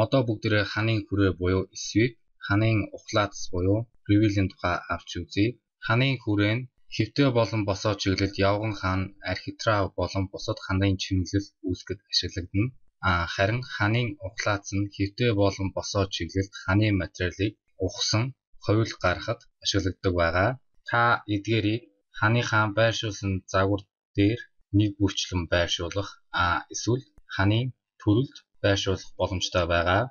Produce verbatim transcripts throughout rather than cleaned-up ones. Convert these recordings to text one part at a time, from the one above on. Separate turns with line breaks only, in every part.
Одоо бүгдээрээ ханын хүрээ буюу sweep, ханын ухлаац буюу reveal-ийн тухай авч үзье. Ханын хүрээ нь хэвтэй болон босоо чиглэлд явган хан, архитрав болон бусад ханын чимэглэл үүсгэхэд ашиглагдана. А харин ханын ухлаац нь хэвтэй болон босоо чиглэлд ханы материалыг ухсан, хувил гаргахад ашигладаг байгаа. Та эдгээрийг ханыхаа байршуулсан загвар дээр нэг бүрчлэн байршуулах, а эсвэл ханын төрөлд байршуулах боломжтой байгаа.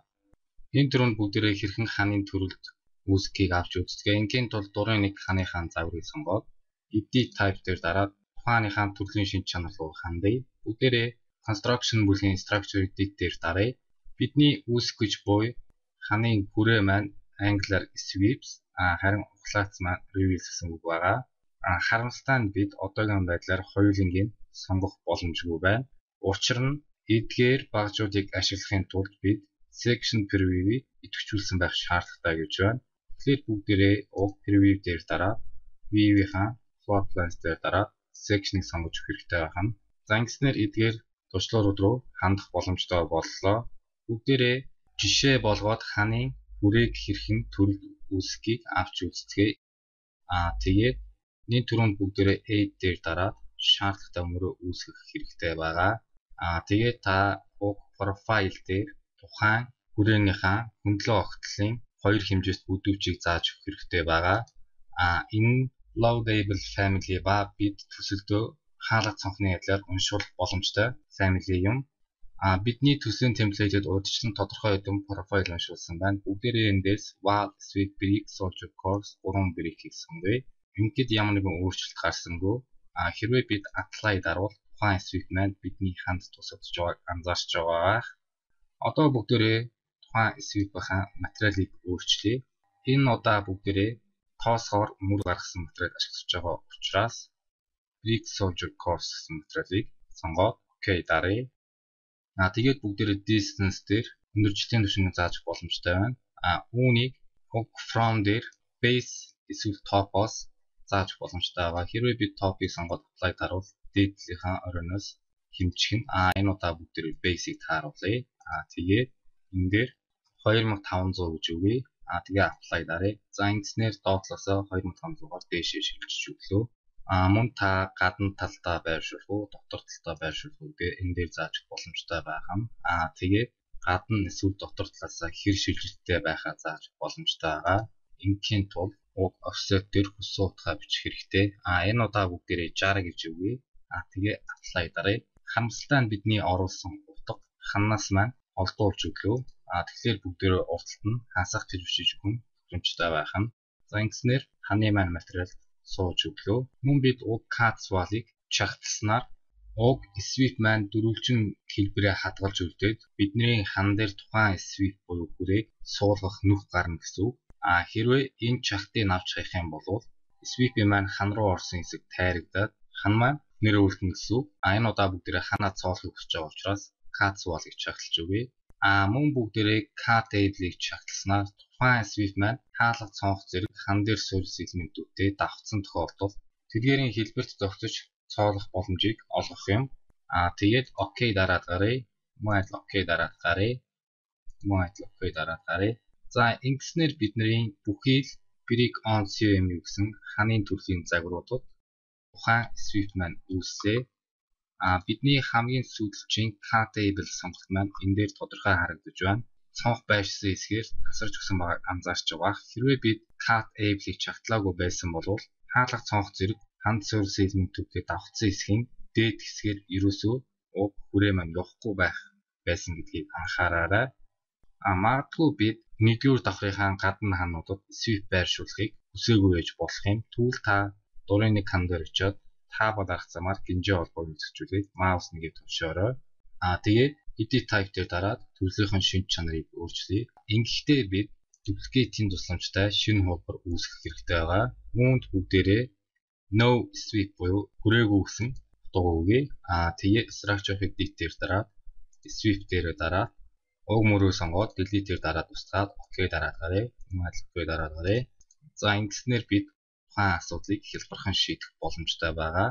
Энэ төрөнд бүгдээрээ хэрхэн ханын төрөлд үүсгэхийг авч үздэг. Ингийн тулд дурын нэг ханыхаа загварыг сонгоод edit type дээр дараад тухайныхаа төрлийн шинж чанар руу хандъя. Бүгдээрээ construction бүлгийн structure edit дээр даръя. Бидний үүсгэх гэж буй ханын хүрээ маань angular sweeps, а харин ухлаац маань reveal гэсэн үг байгаа. А харамсалтай нь бид одоогийн байдлаар хоёулангийг сонгох боломжгүй байна. Учир нь эдгээр багжуудыг ашиглахын тулд бид section preview-ийг идэвхжүүлсэн байх шаардлагатай гэж байна. Тэгэхээр бүгдээрээ уг preview дээр дараа view-ийн floor plans дээр дараа section-ыг сонгож өгөх хэрэгтэй байна. За ингэснээр эдгээр туршлагууд руу хандах боломжтой боллоо. Бүгдээрээ жишээ болгоод ханын хүрээг хэрхэн төрөлд үүсгэхийг авч үздэгэ. А тэгээд нэг түрүүнд бүгдээрээ add дээр дараад шаардлагатай мөрөө үүсгэх хэрэгтэй байгаа. А тэгээд та уг profile дээр тухайн хүрээнийхээ хөндлөн огтлын хоёр хэмжээст бүдүүчийг зааж өгөх хэрэгтэй байгаа. А энэ loadable family ба бид төсөлдөө хаалга цонхны ядлаар уншуулах боломжтой family юм. А бидний төслийн темплейтэд урьдчилан тодорхой хэдэн profile уншуулсан байна. Бүгдээрээ эндээс wall, sweep, brick, soldier course гурван brick-ийг сонгоё. Ингээд ямар нэгэн өөрчлөлт гарсангүй. А хэрвээ бид apply дарвал тухайн sweep маань бидний ханд тусагдж байгааг анзаарч байгаа. Одоо бүгдээрээ тухайн sweep-ийн материалыг өөрчлөе. Энэ удаа бүгдээрээ тоосгоор мөр гаргасан материал ашиглаж байгаа учраас brick, soldier course гэсэн материалыг сонгоод OK даръя. А тэгээд бүгдээрээ distance дээр өндөрлөлтийн түвшинг зааж боломжтой байна. А үүнийг from дээр base эсвэл top-оос зааж боломжтой байгаа. Хэрвээ бид top-ыг сонгоод apply дарвал дээдлийнхаа оройноос хэмжих нь. А энэ удаа бүгдээрээ base-ийг тааруулъя. А тэгээд энэ дээр two thousand five hundred гэж өгье. А тэгээ apply даръя. За ингэснээр доотлосоо two thousand five hundred-аар дээшээ шилжиж өглөө. А мөн та гадна талдаа байршуулах уу, дотор талдаа байршуулах уу гэдэг энэ дээр зааж боломжтой байгаа юм. А тэгээд гадна эсвэл дотор талаасаа хэр шилжилттэй байхаа зааж боломжтой байгаа. Ингийн тулд уг offset дээр хүссэн утгаа бичих хэрэгтэй. А энэ удаа бүгдээрээ sixty гэж өгье. А тэгээ apply даръя. Харамсалтай нь бидний оруулсан утга ханаас маань олдуулж өглөө. А тэгэхээр бүгдээрээ урталт нь хасах төлөвшөж өгөх нь боломжтой байх нь. За ингэснээр ханы маань материал сууж өглөө. Мөн бид уг cut wall-ыг чагталснаар уг sweep маань дөрвөлжин хэлбэрээ хадгалж үлдээд бидний хан дээр тухайн sweep буюу хүрээг суулгах нүх гарна гэсэн үг. А хэрвээ энэ чагтыг авч хаях юм бол sweep-ийн маань хан руу орсон хэсэг тайрагдаад хан маань нэр үлдэнэ гэсэн үг. А энэ удаа бүгдээрээ ханаа цоолохыг хүсэж байгаа учраас cut wall-ыг чагталж өгье. А мөн бүгдээрээ cut table-ийг чагталснаар тухайн sweep маань хаалга цонх зэрэг хан дээр суурь сегментүүдтэй давхцсан тохиолдолд тэдгээрийн хэлбэрт зохицож цоолох боломжийг олгох юм. А тэгээд OK дараад гаръя. Мөн адил OK дараад гаръя. Мөн адил OK дараад гаръя. За ингэснээр бидний бүхий л brick on C M U гэсэн ханын төрлийн загваруудад тухайн sweep маань үүссэ. А бидний хамгийн сүүлчийн cut table сонголт маань энэ дээр тодорхой харагдаж байна. Цонх байшсан хэсгээр тасарч өгсөн байгааг анзаарч байгаа. Хэрвээ бид cut table-ийг чагтлаагүй байсан бол хаалга цонх зэрэг ханд суурь сегментүүдтэй давхцсан хэсгийн дээд хэсгээр ерөөсөө уг хүрээ маань явахгүй байх байсан гэдгийг анхаараарай. А магадгүй бид нэгдүгээр давхрынхаа гадна хануудад sweep байршуулахыг хүсээгүй байж болох юм. Түүл та дурын нэг хан дээр очиод таабад арах замаар гинжээ холбоог үзэхжүүлээд маус нэгээ төвшөөрэй. А тэгээд edit type дээр дараад төрлийнхэн шинж чанарыг өөрчлөе. Ингэхдээ бид duplicate-ийн тусламжтай шинэ хуулбар үүсгэх хэрэгтэй байгаа. Үүнд бүгдээрээ no sweep буюу хүрээгүй гэсэн утга өгье. А тэгээд structure edit дээр дараад sweep дээр дараад уг мөрөө сонгоод delete дээр дараад устгаад OK дараад гаръя. Мөн OK дараад гаръя. За ингэснээр бид тухайн асуудлыг хялбархан шийдэх боломжтой байгаа.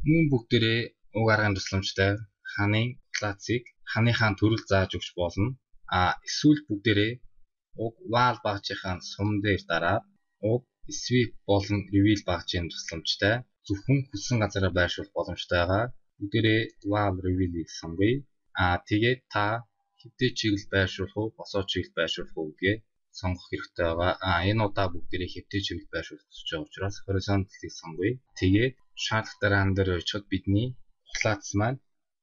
Мөн бүгдээрээ уг аргын тусламжтай ханын классыг ханыхаа төрөл зааж өгч болно. А эсвэл бүгдээрээ уг while багжийн сум дээр дараад уг sweep болон reveal багжийн тусламжтай зөвхөн хүссэн газараа байршуулах боломжтой байгаа. Бүгдээрээ while reveal-ийг сонгоё. А тэгээд та хэвтээ чиглэл байршуулах уу, босоо чиглэл байршуулах уу гэдгээ сонгох хэрэгтэй байгаа. А энэ удаа бүгдээрээ хэвтээ чиглэл байршуулах гэж байгаа учраас horizontal-ыг сонгоё. Тэгээд шаардлага дараан дээр очиход бидний ухлаацсан маань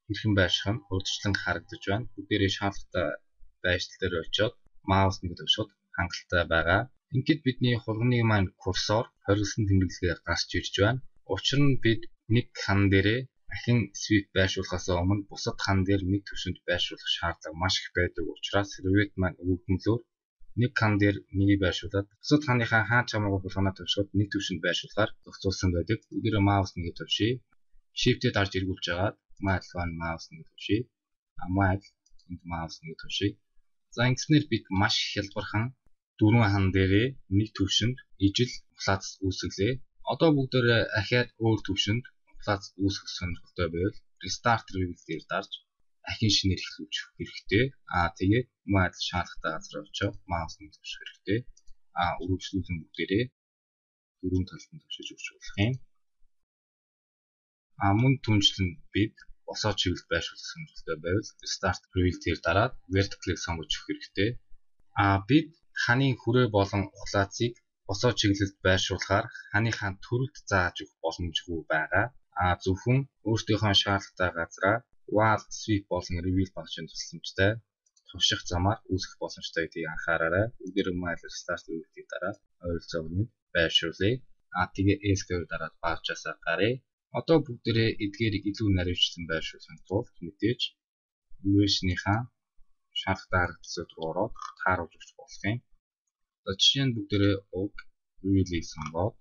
хэрхэн байрших нь урьдчилан харагдаж байна. Бүгдээрээ шаардлагатай байршил дээр очиод маус нэг төвшөд хангалттай байгаа. Ингээд бидний хурганы маань курсор хориглосон тэмдэглэгээ гарч ирж байна. Учир нь бид нэг хан дээрээ дахин sweep байршуулахаас өмнө бусад хан дээр нэг төвшөнд байршуулах шаардлага маш их байдаг учраас review маань өгөгдмөлөөр нэг хан дээр нэгийг байршуулад бусад ханыхаа хаач хамаагүй болгоно төвшөд нэг төвшөнд байршуулахаар зохицуулсан байдаг. Бүгдээрээ маус нэг төвшөе. Shift-д дарж эргүүлж агаад маус маус нэг төвшөе. А маус энд маус нэг төвшөе. За ингэснээр бид маш хялбархан дөрвөн хан дээрээ нэг төвшөнд ижил ухлаац үүсгэлээ. Одоо бүгдээрээ ахаад өөр төвшөнд ухлаац үүсгэх сонирхолтой байвал restart review дээр дарж дахин шинээр эхлүүлж хэрэгтэй. Аа тэгээд маус шаардлагатай газар очиж маус нэг төвшөх хэрэгтэй. Аа үргэлжлүүлэн бүгдээрээ дөрвөн талд нь төвшиж өгч болох юм. Аа мөн түншлэн бид босоо чиглэл байршуулах сонирхолтой байвал restart review дээр дараад vertical-ыг сонгож өгөх хэрэгтэй. Аа бид ханы хүрээ болон ухлаацыг босоо чиглэлд байршуулахаар ханыхаа төрөлд зааж өгөх боломжгүй байгаа. А зөвхөн өөртөөхөө шаардлагатай газраа while sweep болон reveal багжийн тусламжтай туших замаар үүсгэх боломжтой гэдгийг анхаараарай. Бүгдээрээ майл restart review-ийг дараад ойролцоо өмнө байршуулъя. А тэгээ escape дараад багжаасаа гаръя. Одоо бүгдээрээ эдгээрийг илүү наривчлан байршуулахын тулд мэдээж view-ийнхаа шаардлагатай харагдцууд руу ороод тааруулж өгч болох юм. За жишээ нь бүгдээрээ уг reveal-ийг сонгоод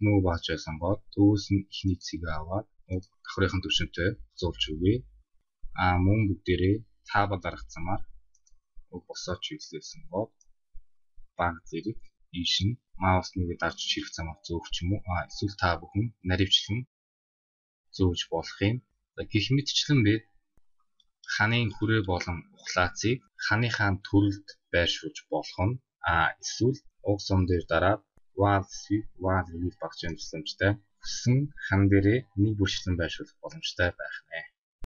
муу багжаа сонгоод төвөөс нь ихний цэгээ аваад уг давхрынхын төвшөнтэй зулж өгье. А мөн бүгдээрээ таабал дарах замаар уг босоо чиглэлээ сонгоод баг зэрэг ийш нь маус нэгээ дарж чирэх замаар зөөх ч юм уу. А эсвэл та бүхэн наривчлан зөөж болох юм. За гэх мэтчлэн бид ханы хүрээ болон ухлаацыг ханыхаа төрөлд байршуулж болох нь. А эсвэл уг сум дээр дараад while sweep while reveal багжийн тусламжтай хүссэн хан дээрээ нэг бүрчлэн байршуулах боломжтой байх нэ.